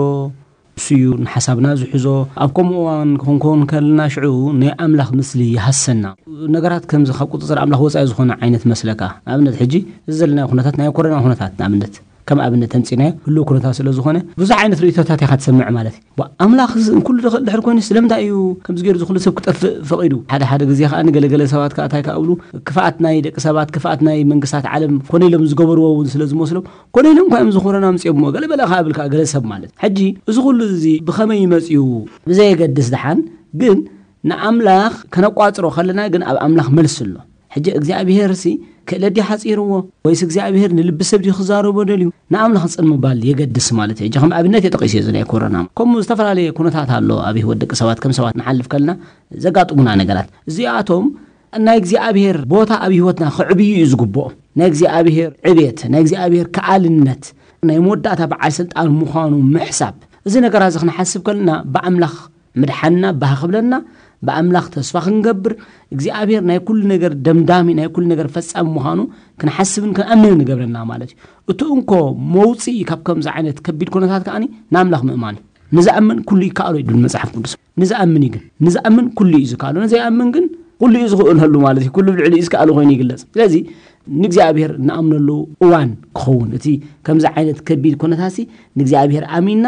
እሱ እዩ ንሓሳብና ዝሕዞ። ኣብ ከምኡ እዋን ክንከውን ከለና ሽዑ ናይ ኣምላኽ ምስሊ ይሃሰና። ነገራት ከምዚ ካብ ቁፅፅር ኣምላኽ ወፃኢ ዝኾነ ዓይነት መስለካ። ንኣብነት ሕጂ እዚ ዘለናዮ ኩነታት ናይ ኮሮና ኩነታት ንኣብነት ከም ኣብነት ተምፂናዮ ህልው ኩነታት ስለ ዝኾነ ብዙሕ ዓይነት ርእቶታት ኢኻ ትሰምዕ ማለት እዩ። ዋ፣ ኣምላኽ እዚ ኩሉ ዝኽእል ድሕር ኮይኑ ስለምንታይ እዩ ከምዚ ገይሩ ዝኹሉ ሰብ ክጠፍእ ፈቒዱ? ሓደ ሓደ ግዜ ከዓ ንገለገለ ሰባት ከዓ እንታይ ከዓ እብሉ፣ ክፍኣት ናይ ደቂ ሰባት፣ ክፍኣት ናይ መንግስታት ዓለም ኮነ ኢሎም ዝገበርዎ እውን ስለ ዝመስሎም ኮነ ኢሎም እኳ እዮም ዝኾረና ኣምፅኦምዎ ገለ በለ ከዓ እብል ከዓ ገለ ሰብ ማለት። ሕጂ እዚ ኩሉ እዚ ብኸመይ ይመፅኡ? ብዘየገድስ ደሓን ግን ንኣምላኽ ከነቋፅሮ ከለና ግን ኣብ ኣምላኽ መልሲ ኣሎ። ሕጂ እግዚኣብሔር ሲ ክእለት ድዩ ሓፂርዎ ወይስ እግዚኣብሔር ንልቢ ሰብ ድዩ ክዛረቦ ደልዩ? ንኣምላኽ ፅን ምባል የገድስ ማለት እዩ። ሕጂ ከም ኣብነት የጠቂሱ እዚ ናይ ኮሮና ከምኡ ዝተፈላለየ ኩነታት ኣሎ ኣብ ህይወት ደቂ ሰባት ከም ሰባት ንሓልፍ ከለና ዘጋጥሙና ነገራት እዚኣቶም ናይ እግዚኣብሔር ቦታ ኣብ ህይወትና ክዕብዩ እዩ ዝግብኦ። ናይ እግዚኣብሔር ዕቤት ናይ እግዚኣብሔር ከኣልነት ናይ መወዳእታ በዓል ስልጣን ምዃኑ ምሕሳብ እዚ ነገራት እዚ ክንሓስብ ከለና ብኣምላኽ ምድሓንና ባህ ክብለና ብኣምላኽ ተስፋ ክንገብር እግዚኣብሔር ናይ ኩሉ ነገር ደምዳሚ ናይ ኩሉ ነገር ፈጻሚ ምዃኑ ክንሓስብን ክንኣምንን ይገብረና ማለት እዩ። እቲ እንኮ መውፅኢ ካብ ከምዚ ዓይነት ከቢድ ኩነታት ከዓኒ ንኣምላኽ ምእማን እዩ። ንዝኣምን ኩሉ ይከኣሎ ይብል መፅሓፍ ቅዱስ። ንዝኣምን እዩ ግን ንዝኣምን ኩሉ እዩ ዝከኣሎ፣ ንዘይኣምን ግን ኩሉ እዩ ዝኽእለሉ ማለት እዩ። ኩሉ ብልዕሊ እዩ ዝከኣሉ ኮይኑ ይግለፅ። ስለዚ ንእግዚኣብሔር ንኣምነሉ እዋን ክኸውን እቲ ከምዚ ዓይነት ከቢድ ኩነታሲ ንእግዚኣብሔር ኣሚንና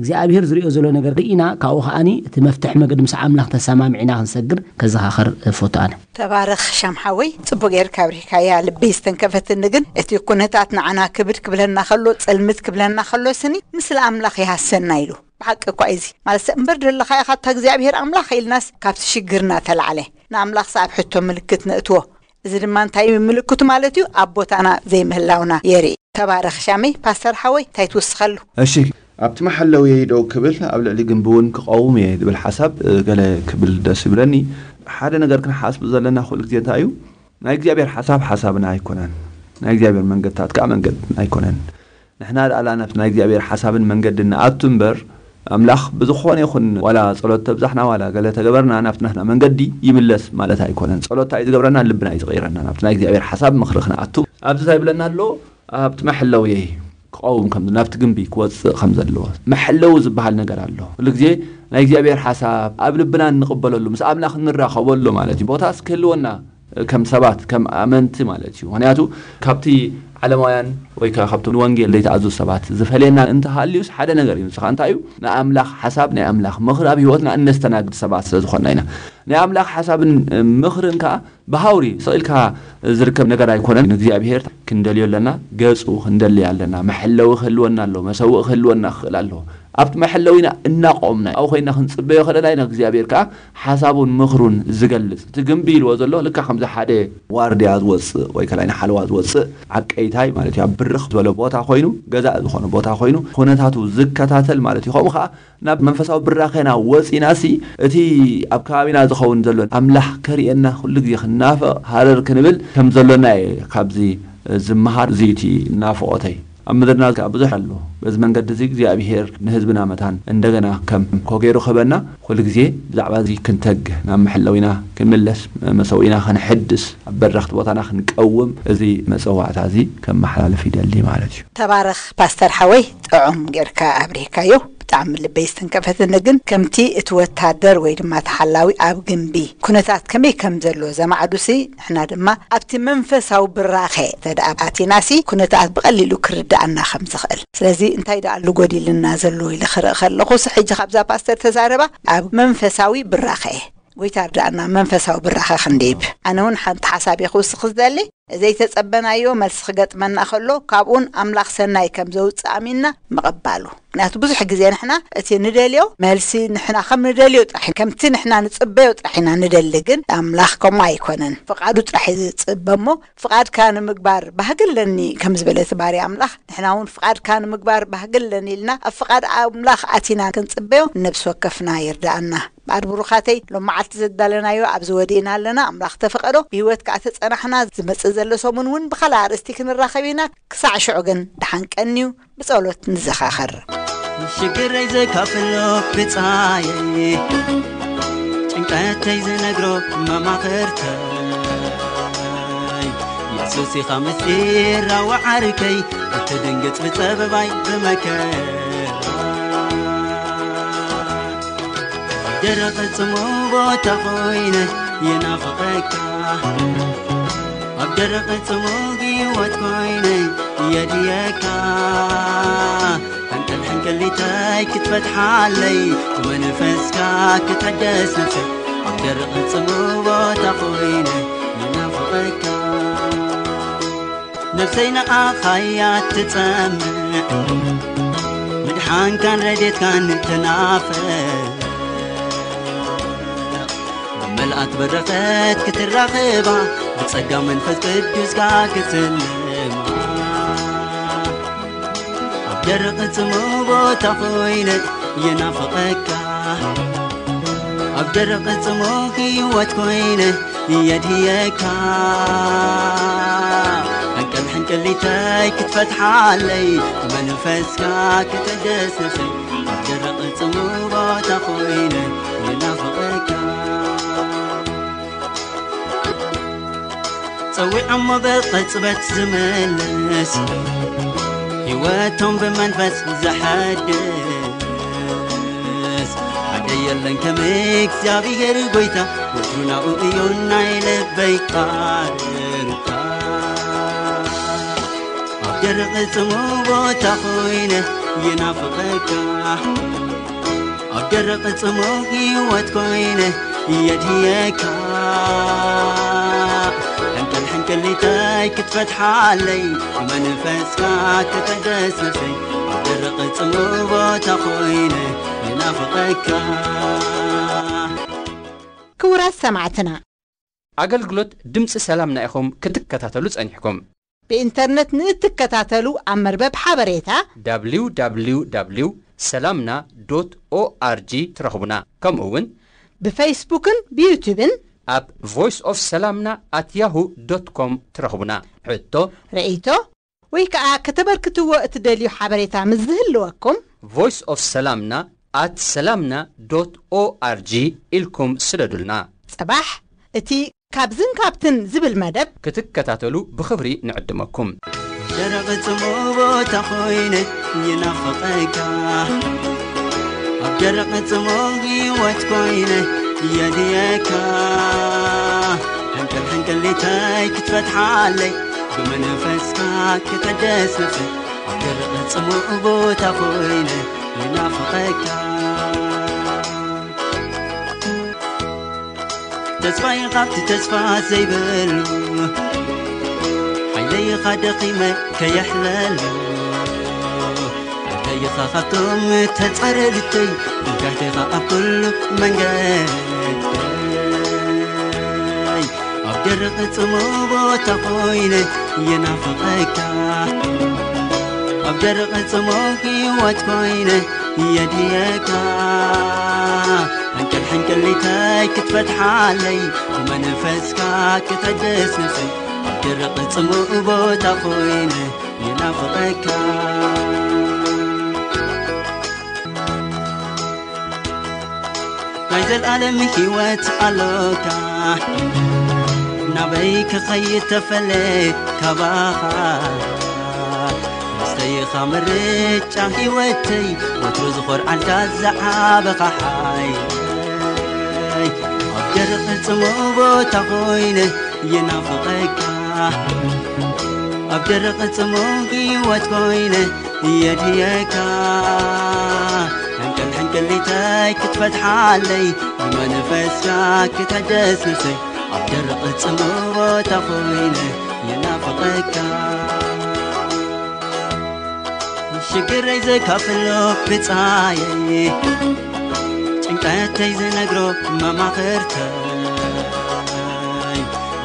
እግዚኣብሔር ዝሪኦ ዘሎ ነገር ርኢና ካብኡ ከዓኒ እቲ መፍትሒ መገዲ ምስ ኣምላኽ ተሰማሚዕና ክንሰግር ከዘኻኸር እፈቱ ኣነ። ተባረኽ ሻም ሓወይ፣ ጽቡቅ ጌርካ ኣብሪህካያ። ልበይ ዝተንከፈትኒ ግን እቲ ኩነታት ንዓና ክብድ ክብለና ከሎ፣ ጽልምት ክብለና ከሎ ስኒ ምስለ ኣምላኽ ይሃሰና ኢሉ። ብሓቂ እኳ እዚ ማለት ሰብ እምበር ደለኻ ኢኻ እታ እግዚኣብሔር ኣምላኽ ኢልናስ ካብቲ ሽግርና ተላዕለ ንኣምላኽ ኣብ ሕቶ ምልክት ነእትዎ። እዚ ድማ እንታይ ምልክቱ ማለት እዩ? ኣብ ቦታና ዘይምህላውና የርኢ። ተባረኽ ሻመይ። ፓስተር ሓወይ እንታይ ትውስኸሉ? እሺ፣ ኣብቲ መሓለውየይ ደው ክብል ኣብ ልዕሊ ግንቢ እውን ክቐውም እየ ዝብል ሓሳብ ገለ ክብል ደስ ይብለኒ። ሓደ ነገር ክንሓስብ ዘለና ኩሉ ግዜ እንታይ እዩ? ናይ እግዚኣብሔር ሓሳብ ሓሳብና ኣይኮነን፣ ናይ እግዚኣብሔር መንገድታት ከዓ መንገድና ኣይኮነን። ንሕና ደኣ ናብቲ ናይ እግዚኣብሔር ሓሳብን መንገድን ንኣቱ እምበር ኣምላኽ ብዝኾነ ይኹን ዋላ ጸሎት ተብዛሕና ዋላ ገለ ተገበርና ናብቲ ናትና መንገዲ ይምለስ ማለት ኣይኮነን። ጸሎት እንታይ እዩ ዝገብረና? ልብና እዩ ዝቕይረና ናብቲ ናይ እግዚኣብሔር ሓሳብ ምኽሪ ክንኣቱ። ኣብዚ እንታይ ይብለና ኣሎ? ኣብቲ መሐለውየይ ክቐውም ከም ናብቲ ግንቢ ክወፅእ ከም ዘለዎ መሐለዊ ዝበሃል ነገር ኣሎ። ኩሉ ግዜ ናይ እግዚኣብሔር ሓሳብ ኣብ ልብና እንቕበለሉ ምስ ኣምላኽ እንራኸበሉ ማለት እዩ። ቦታስ ክህልወና ከም ሰባት ከም ኣመንቲ ማለት እዩ። ምክንያቱ ካብቲ ዓለማውያን ወይ ከዓ ካብቶም ንወንጌል ዘይተኣዘዙ ሰባት ዝፈልየና እንተሃልዩስ ሓደ ነገር እዩ። ንስኻ እንታይ እዩ? ንኣምላኽ ሓሳብ ናይ ኣምላኽ ምኽሪ ኣብ ህይወትና እነስተናግድ ሰባት ስለ ዝኾንና ኢና። ናይ ኣምላኽ ሓሳብን ምኽርን ከዓ ብሃውሪ ስቕ ኢልካ ዝርከብ ነገር ኣይኮነን። ንእግዚኣብሔር ክንደልዮ ኣለና፣ ገጹ ክንደሊ ኣለና። መሐለዊ ክህልወና ኣሎ፣ መሰውእ ክህልወና ክኽእል ኣለዎ። ኣብቲ መሐለዊና እናቆምና ኣብኡ ኮይና ክንጽበዮ ከለና ኢና እግዚኣብሔር ከዓ ሓሳቡን ምኽሩን ዝገልጽ። እቲ ግንቢ ኢልዎ ዘሎ ልካ ከምዚ ሓደ ዋርድያ ዝወጽእ ወይ ከላይ ንሓለዋ ዝወጽእ ዓቀይታይ ማለት እዩ። ኣብ ብርኽ ዝበለ ቦታ ኮይኑ ገዛእ ዝኾነ ቦታ ኮይኑ ኩነታቱ ዝከታተል ማለት እዩ። ከምኡ ከዓ ናብ መንፈሳዊ ብራኸና ወጺናሲ እቲ ኣብ ከባቢና ዝኸውን ዘሎ ኣምላኽ ከርእየና ኩሉ ግዜ ክናፈቕ ሃረር ክንብል ከም ዘሎና እየ ካብዚ ዝመሃር። እዚ እቲ ናፍቖተይ ኣብ ምድርና ከዓ ብዙሕ ኣሎ። በዚ መንገዲ እዚ እግዚኣብሔር ንህዝብና መታን እንደገና ከም ኮገይሩ ክህበና ኩሉ ግዜ ብዛዕባ እዚ ክንተግህ ናብ መሐለዊና ክንምለስ መሰዊና ክንሕድስ ኣብ በረኽቲ ቦታና ክንቀውም እዚ መጸዋዕታ እዚ ከመሓላልፍ ይደሊ ማለት እዩ። ተባረኽ ፓስተር ሓወይ፣ ጥዑም ጌርካ ኣብሪህካዮ። ብጣዕሚ ልበይ ዝተንከፈትኒ ግን ከምቲ እቲ ወታደር ወይ ድማ ተሓላዊ ኣብ ግንቢ ኩነታት ከመይ ከም ዘሎ ዘማዕዱሲ ንሕና ድማ ኣብቲ መንፈሳዊ ብራኸ ተደኣ ኣቲናሲ ኩነታት ብቐሊሉ ክርድኣና ከም ዝኽእል። ስለዚ እንታይ ደኣ ኣሉ ጎዲልና ዘሎ ኢለ ክርኢ ከለኹስ ሕጂ ካብዛ ፓስተር ተዛረባ ኣብ መንፈሳዊ ብራኸ ጎይታ ርዳእና መንፈሳዊ ብራኸ ክንዲብ። ኣነ እውን ሓንቲ ሓሳብ እየ ክውስኽ ዝደሊ። ዘይተጸበናዮ መልሲ ክገጥመና ከሎ ካብኡን ኣምላኽ ሰናይ ከም ዘውፅእ ኣሚንና ምቕባሉ። ምክንያቱ ብዙሕ ግዜ ንሕና እቲ ንደልዮ መልሲ ንሕና ከም ንደልዮ ጥራሕ ከምቲ ንሕና ንጽበዮ ጥራሕ ኢና ንደሊ፣ ግን ኣምላኽ ከምኡ ኣይኮነን። ፍቓዱ ጥራሕ እዩ ዝጽበ እሞ ፍቓድካ ንምግባር ባህጊ ኣለኒ ከም ዝበለ እቲ ባርያ ኣምላኽ ንሕና እውን ፍቓድካ ንምግባር ባህጊ ኣለኒ ኢልና ኣብ ፍቓድ ኣምላኽ ኣቲና ክንጽበዮ ነብሲ ወከፍና ይርዳኣና። እምበኣር ብሩኻተይ ሎም መዓልቲ ዘዳለናዮ ኣብዚ ወዲእና ኣለና። ኣምላኽ ተፈቐዶ ብህይወት ከኣ ተጸናሕና ዝመጽእ ዘሎ ሰሙን እውን ብኻልእ ኣርእስቲ ክንራኸብ ኢና። ክሳዕ ሽዑ ግን ደሓን ቀንዩ ብጸሎት ንዘኻኸር። ሽግረይ ዘካፍሎ ብጻየይ ጭንቀተይ ዝነግሮ መማኽርተይ የሱስ ኢኻ ምስጢራ ወዓርከይ እትድንግጽ ብጸበባይ ብመከራ ደረቕ ጽሙ ቦታ ኮይነ ይናፍቐካ ኣብ ደረቕ ጽሙ ህይወት ኮይነ የድየካ ሕንቅል ሕንቅሊተይ ክትፈትሓለይ ብመንፈስካ ክትሕደስ ነፍሰይ ኣብ ደረቕ ጽሙ ቦታ ኮይነ ይናፍቐካ ነፍሰይ ንኣኻያ ትጸምዕ ምድሓንካን ረድኤትካን ትናፍቕ ብመልኣት በረኸት ክትራኸባ ብጸጋ መንፈስ ቅዱስካ ክትስልማ ኣብ ደረቕ ጽሙ ቦታ ኮይነ የናፍቐካ ኣብ ደረቕ ጽሙ ህይወት ኮይነ የድየካ ሕንቅል ሕንቅሊተይ ክትፈትሓለይ መንፈስካ ክትሕደስ ነፍሰይ ኣብ ደረቕ ጽሙ ቦታ ኮይነ የናፍቐካ ጸዊዖሞ ብቕጽበት ዝምልስ ህይወቶም ብመንፈስ ዘሐድስ ሓደ የለን ከም እግዚኣብሔር ጎይታ ወትሩ ናብኡ እዩ ናይ ልበይ ቃርታ ኣብ ደረቕ ጽሙ ቦታ ኮይነ ይናፍቐካ ኣብ ደረቕ ጽሙ ህይወት ኮይነ የድየካ ሕንቅል ሕንቅሊተይ ክትፈትሓለይ መንፈስካ ክትሕደስ ነፍሰይ ኣብ ደረቕ ጽሙ ቦታ ኮይነ ይናፍቐካ ክቡራት ሰማዕትና፣ ኣገልግሎት ድምፂ ሰላምና ኢኹም ክትከታተሉ ጸኒሕኩም። ብኢንተርነት ንእትከታተሉ ኣብ መርበብ ሓበሬታ www ሰላምና ዶት ኦኣርጂ ትረኽቡና። ከምኡ እውን ብፌስቡክን ብዩቱብን ኣብ voice of ሰላምና at yahoo dot com ትረኽቡና። ሕቶ፣ ርእይቶ ወይ ከኣ ከተበርክትዎ እትደልዩ ሓበሬታ ምስ ዝህልወኩም voice of ሰላምና at ሰላምና ዶት ኦኣርጂ ኢልኩም ስደዱልና። ጽባሕ እቲ ካብዝን ካብትን ዝብል መደብ ክትከታተሉ ብኽብሪ ንዕድመኩም። ደረቕ ጽሙእ ቦታ ኮይነ ይናፍቐካ፣ ኣብ ደረቕ ጽሙእ ህይወት ኮይነ የድየካ። ሕንቅል ሕንቅሊተይ ክትፈትሓለይ፣ ብመንፈስካ ክትሕደስ ነፍሰይ፣ ኣብ ደረቕ ጽሙእ ቦታ ኮይነ ይናፍቐካ። ተስፋይ ካብቲ ተስፋ ዘይብሉ፣ ሓይለይኻ ደኺመ ከየሕለሉ፣ ኢኻ ካብቶም ተጻረርተይ፣ ብጋህቴኻ ኣብ ኩሉ መንገደይ። ኣብ ደረቕ ጽሙእ ቦታ ኮይነ የናፍቐካ፣ ኣብ ደረቕ ጽሙእ ህይወት ኮይነ የድየካ። ሕንቅል ሕንቅሊተይ ክትፈትሓለይ፣ ብመንፈስካ ክትሕደስ ነፍሰይ። ኣብ ደረቕ ጽሙእ ቦታ ኮይነ የናፍቐካ። ናይ ዘልኣለም ህይወት ኣሎካ፣ ናበይ ክኸይድ ተፈለ ካባኻ። መስተይኻ ምርጫ ህይወተይ፣ ወትሩ ዝኾርዓልካ ዝዓበኻ ሓይለይ። ኣብ ደረቕ ጽሙእ ቦታ ኮይነ የናፍቐካ፣ ኣብ ደረቕ ጽሙእ ህይወት ኮይነ የድየካ። ሕንቅል ሕንቅሊተይ ክትፈትሓለይ፣ ብመንፈስካ ክትሕደስ ነፍሰይ። ኣብ ደረቕ ጽሙእ ቦታ ኮይነ የናፍቐካ። ሽግረይ ዘካፍሎ ብጻየይ፣ ጭንቀተይ ዝነግሮ መማኽርተይ።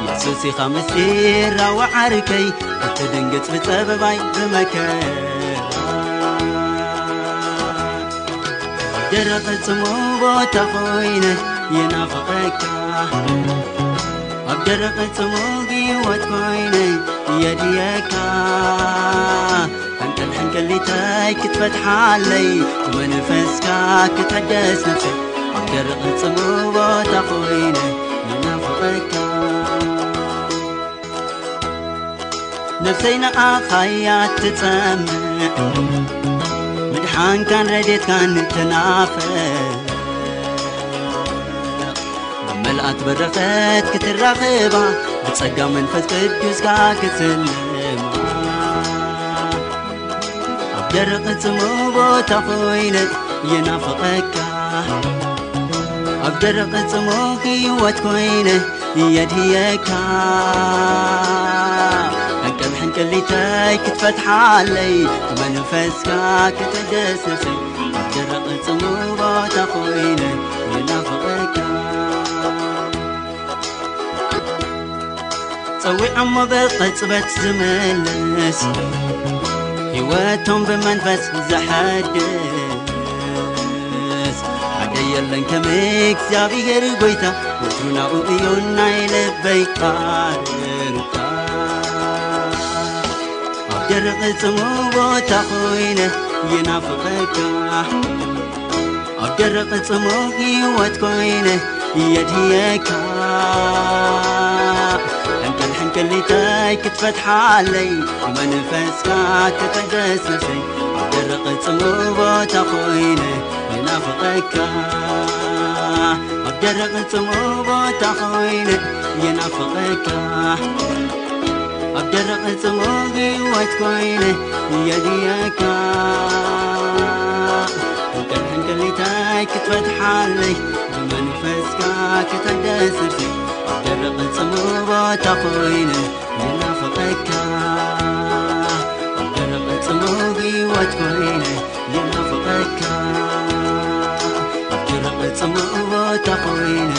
የሱስ ኢኻ ምስጢር ዓርከይ፣ እትድንግጽ ብጸበባይ ብመከራ። ኣብ ደረቕ ጽሙእ ቦታ ኮይነ የናፍቐካ፣ ኣብ ደረቕ ጽሙእ ህይወት ኮይነ የድየካ። ሕንቅል ሕንቅሊተይ ክትፈትሓለይ፣ ብመንፈስካ ክትሕደስ ነፍሰይ። ኣብ ደረቕ ጽሙእ ቦታ ኮይነ የናፍቐካ። ነፍሰይ ንኣኻያ ትጸምእ፣ ምድሓንካን ረድኤትካን ትናፍቕ። ብመልኣት በረኸት ክትራኸባ፣ ብጸጋ መንፈስ ቅዱስካ ክትስልማ። ኣብ ደረቕ ጽሙእ ቦታ ኮይነ የናፍቐካ፣ ኣብ ደረቕ ጽሙእ ህይወት ኮይነ የድየካ። ሕንቅል ሕንቅሊተይ ክትፈትሓለይ፣ ብመንፈስካ ክትሕደስ ነፍሰይ። ኣብ ደረቕ ጽሙእ ቦታ ኮይነ የናፍቐካ። ጸዊዖሞ ብቕጽበት ዝምልስ፣ ህይወቶም ብመንፈስ ዘሐድስ። ሓደ የለን ከም እግዚኣብሔር ጎይታ፣ ወትሩ ናብኡ እዩ ናይ ልበይ ቃርታ። ኣብ ደረቕ ጽሙእ ቦታ ኮይነ የናፍቐካ፣ ኣብ ደረቕ ጽሙእ ህይወት ኮይነ የድየካ። ሕንቅል ሕንቅሊተይ ክትፈትሓለይ፣ ብመንፈስካ ክትሕደስ ነፍሰይ። ኣብ ደረቕ ጽሙእ ቦታ ኮይነ የናፍቐካ፣ ኣብ ደረቕ ጽሙእ ቦታ ኮይነ የናፍቐካ። ኣብ ደረቕ ጽሙእ ህይወት ኮይነ የድየካ። ሕንቅል ሕንቅሊተይ ክትፈትሓለይ፣ ብመንፈስካ ክትሕደስ ነፍሰይ። ኣብ ደረቕ ጽሙእ ቦታ ኮይነ የናፍቐካ፣ ኣብ ደረቕ ጽሙእ ህይወት ኮይነ የናፍቐካ። ኣብ ደረቕ ጽሙእ ቦታ ኮይነ